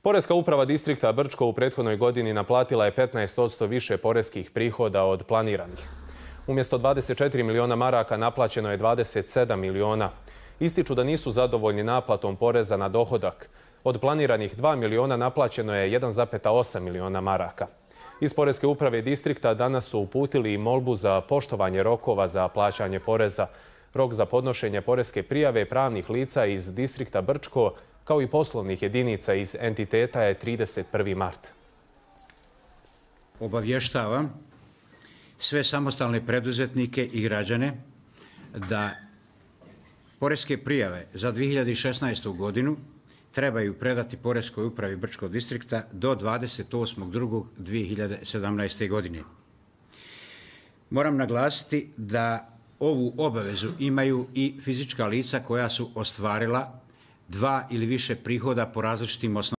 Poreska uprava distrikta Brčko u prethodnoj godini naplatila je 15% više poreskih prihoda od planiranih. Umjesto 24 miliona maraka naplaćeno je 27 miliona. Ističu da nisu zadovoljni naplatom poreza na dohodak. Od planiranih 2 miliona naplaćeno je 1,8 miliona maraka. Iz Poreske uprave distrikta danas su uputili i molbu za poštovanje rokova za plaćanje poreza. Rok za podnošenje poreske prijave pravnih lica iz distrikta Brčko kao i poslovnih jedinica iz entiteta je 31. mart. Obavještavam sve samostalne preduzetnike i građane da poreske prijave za 2016. godinu trebaju predati Poreskoj upravi Brčkog distrikta do 28.2.2017. godine. Moram naglasiti da ovu obavezu imaju i fizička lica koja su ostvarila 2 ili više prihoda po različitim osnovama.